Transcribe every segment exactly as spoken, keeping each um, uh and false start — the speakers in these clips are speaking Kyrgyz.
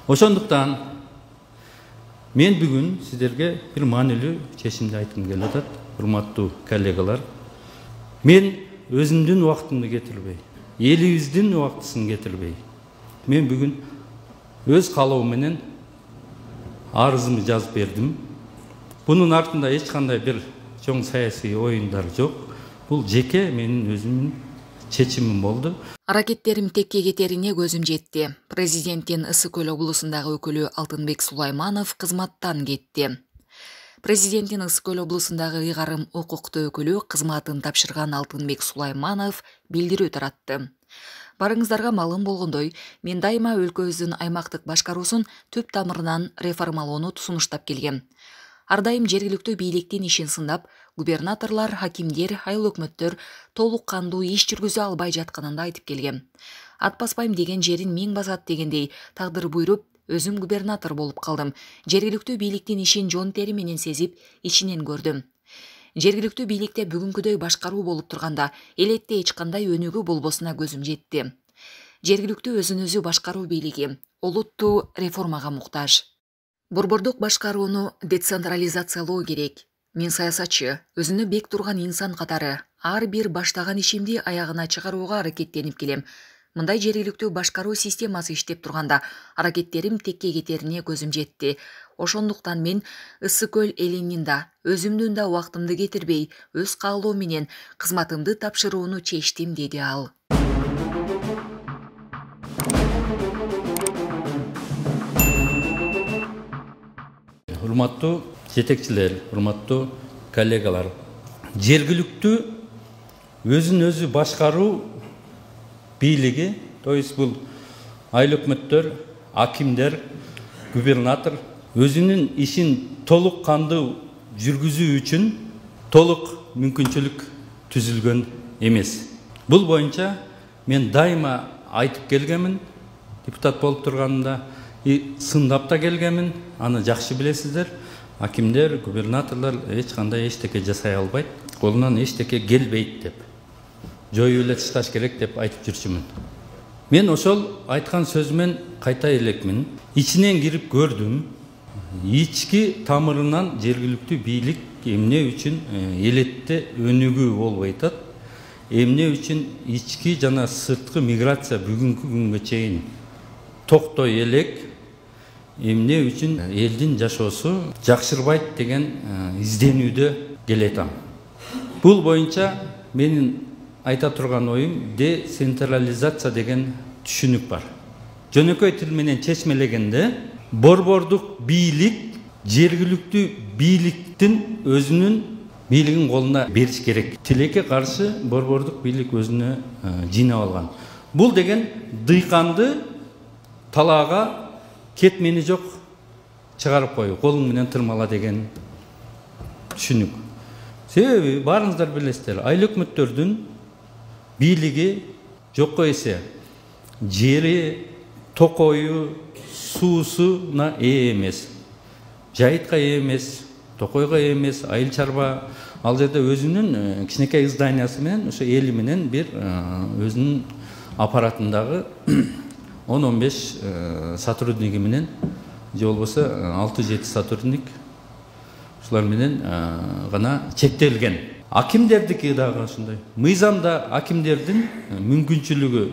Ошондуктан мен бүгүн сиздерге бир маанилүү чечимди айткым келип атат, урматтуу коллегалар. Мен өзүмдүн убактымды кетирбей, элибиздин убактысын кетирбей, мен бүгүн өз каалоом менен арызымды жазып бердим. Бунун артында эч кандай бир чоң саясий оюндар жок. Бул жеке менин өзүмдүн чечимим болду. Аракеттерим текке кетерине көзүм жетти. Президенттин Ысык Көл облусундагы өкүлү Алтынбек Сулайманов кызматтан кетти. Президенттин Ысык Көл облусундагы ыйгарым укуктуу өкүлү кызматын тапшырган Алтынбек Сулайманов билдирүү таратты. Барыңыздарга маалым болгондой, мен дайыма өлкөбүздүн аймактык башкаруусун түп тамырынан реформалоону сунуштап келгем. Ар дайым жергиликтүү бийликтин ишин сындап, губернаторлор, хакимдер, айыл өкмөттөр толук кандуу иш жүргүзө албай жатканын айтып келгем. Ат баспайм деген жерин миң басат дегендей тагдыр буйруп, өзүм губернатор болуп калдым. Жергиликтүү бийликтин ишин жон тери менен сезип, ичинен көрдүм. Жергиликтүү бийликте бүгүнкүдөй башкаруу болуп турганда, элетте эч кандай өнүгүү болбосуна көзүм жетти. Жергиликтүү өзүн өзү башкаруу бийлиги олуттуу реформага муктаж. Борбордук башкарууну децентрализациялоо керек. Мен саясатчы, өзүнө бек турган инсан катары ар бир баштаган ишимди аягына чыгарууга аракеттенип келем. Мындай жергиликтүү башкаруу системасы иштеп турганда аракеттерим текке кетерине көзүм жетти. Ошондуктан мен Ысык Көл элинин да, өзүмдүн да убактымды кетирбей, өз каалоом менен кызматымды тапшырууну чечтим, деди ал. Урматтуу жетекчилер, урматтуу коллегалар, жергиликтүү өзүн өзү башкаруу бийлиги, то есть бул айыл өкмөттөр, акимдер, губернатор өзүнүн ишин толук кандуу жүргүзүү үчүн толук мүмкүнчүлүк түзүлгөн эмес. Бул боюнча мен дайыма айтып келгемин, депутат болуп турганымда, и сындап да келгемин, аны жакшы билесиздер. Акимдер, губернаторлор эч кандай эчтеке жасай албайт, колунан эчтеке келбейт деп, жоюп эле ташташ керек деп айтып жүрчүмүн. Мен ошол айткан сөзүмөн кайта элекмин. Ичинен кирип көрдүм. Ички тамырынан жергиликтүү бийлик эмне үчүн элетте өнүгүү болбой атат, эмне үчүн ички жана сырткы миграция бүгүнкү күнгө чейин токтой элек, эмне үчүн элдин жашоосу жакшырбайт деген изденүүдө келетам. Бул боюнча менин айта турган оюм децентрализация деген түшүнүк бар. Жөнөкөй тил менен чечмелегенде, борбордук бийлик жергиликтүү бийликтин өзүнүн бийлигин колуна бериш керек. Тилекке каршы борбордук бийлик өзүнө жыйнап алган. Бул деген дыйканды талаага кетмени жок чыгарып кой, колуң менен тырмала деген түшүнүк. Себеби баарыңыздар билесиздер, айыл өкмөттөрдүн бийлиги жокко эсе жери, токою, суусуна ээ эмес. Жайытка ээ эмес, токойго ээ эмес, айыл чарба ал жерде өзүнүн кичинекей зданиясы менен, ошо эли менен бир өзүнүн аппаратындагы он он беш сотрудниги менен, же болбосо алты жети сотрудник ушулар менен гана чектелген. Акимдердики дагы ошондой. Мыйзамда акимдердин мүмкүнчүлүгү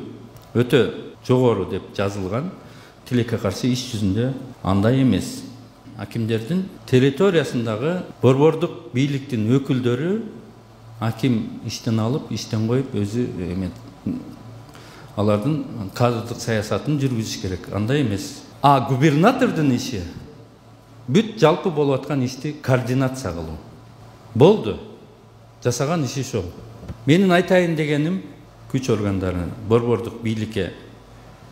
өтө жогору деп жазылган. Тилекке каршы иш жүзүндө андай эмес. Акимдердин территориясындагы борбордук бийликтин өкүлдөрү аким иштен алып, иштен коюп өзү эме алардын кадрдык саясатын жүргүзүш керек. Андай эмес. А губернатордун иши бүт жалпы болуп аткан ишти координация кылуу. Болду. Жасаган иши ошол. Менин айтайын дегеним, күч органдары борбордук бийликке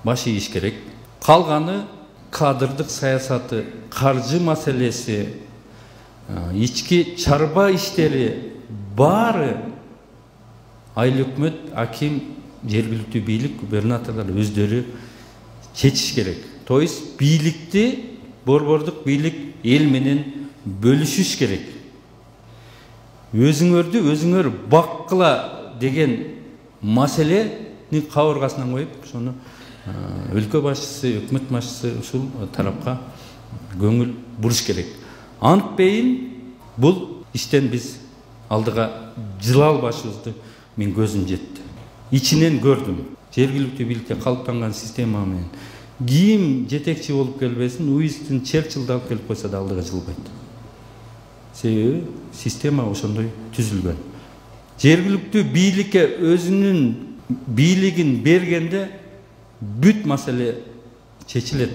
баш ийиш керек. Калганы кадрдык саясаты, каржы маселеси, ички чарба иштери баары айыл өкмөт, аким, жергиликтүү бийлик, губернаторлор өздөрү чечиш керек. То есть бийликти борбордук бийлик эл менен бөлүшүш керек. Өзүңөрдү өзүңөр баккыла деген маселени кабыргасынан коюп, ошону өлкө башчысы, өкмөт башчысы ушул тарапка көңүл буруш керек. Антпейин бул иштен биз алдыга жыла албашыбызды мен көзүм жетти. Ичинен көрдүм. Жергиликтүү бийликке калыптанган система менен ким жетекчи болуп келбесин, Уинстон Черчиллди алып келип койсо да алдыга жылбайт. Себеби система ошондой түзүлгөн. Жергиликтүү бийликке өзүнүн бийлигин бергенде бүт маселе чечилет.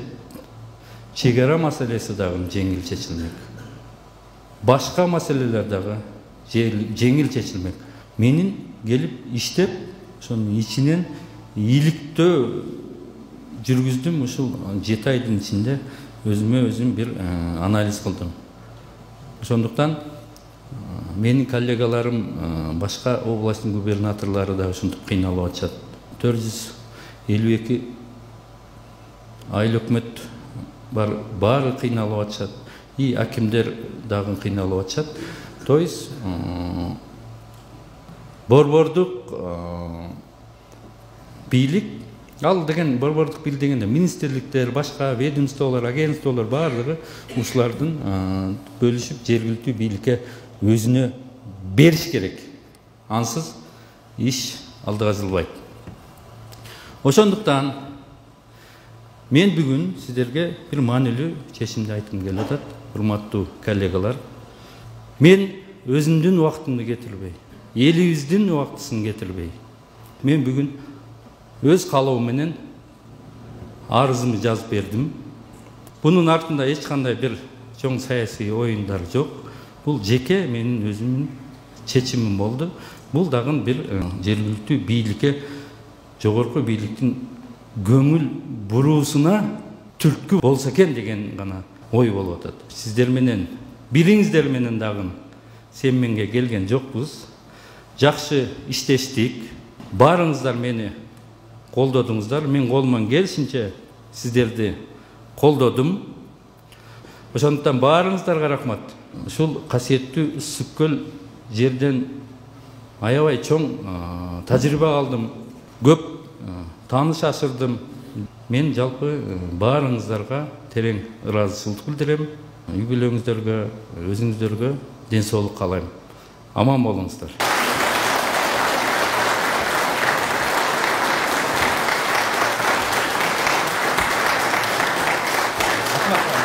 Чегара маселеси дагы жеңил чечилмек. Башка маселелер дагы жеңил чечилмек. Менин келип иштеп, ошонун ичинен ийгиликтөө жүргүздүм. Ушул жети айдын ичинде өзүмө өзүм бир анализ кылдым. Ошондуктан менин коллегаларым, башка областтын губернаторлору да ушинтип кыйналып атышат. төрт жүз элүү эки айыл өкмөт бар, баары кыйналып атышат. И акимдер дагы кыйналып атышат. То есть борбордук бийлик, ал деген борбордук бийлик дегенде министрликтер, башка ведомстволор, агентстволор баардыгы ушулардын бөлүшүп жергиликтүү бийликке өзүнө бериш керек. Ансыз иш алдыга жылбайт. Ошондуктан мен бүгүн сиздерге бир маанилүү чечимди айткым келип атат, урматтуу коллегалар. Мен өзүмдүн убактымды кетирбей, элибиздин убактысын кетирбей, мен бүгүн өз каалоом менен арызымды жазып бердим. Бунун артында эч кандай бир чоң саясий оюндар жок. Бул жеке менин өзүмдүн чечимим болду. Бул дагы бир жергиликтүү бийликке, жогорку бийликтин көңүл буруусуна түрткү болсо экен деген гана ой болуп атат. Сиздер менен, бириңиздер менен дагы семменге келген жокпуз. Жакшы иштештик. Баарыңыздар мени колдодуңуздар. Мен колуман келишинче сиздерди колдодум. Ошондуктан баарыңыздарга рахмат. Ушул касиеттүү Ысык көл жерден аябай чоң тажрыйба алдым. Көп тааныш ашырдым. Мен жалпы баарыңыздарга терең ыраазычылык билдирем. Үй бүлөңүздөргө, өзүңүздөргө ден соолук каалайм. Аман болуңуздар. Rahmat.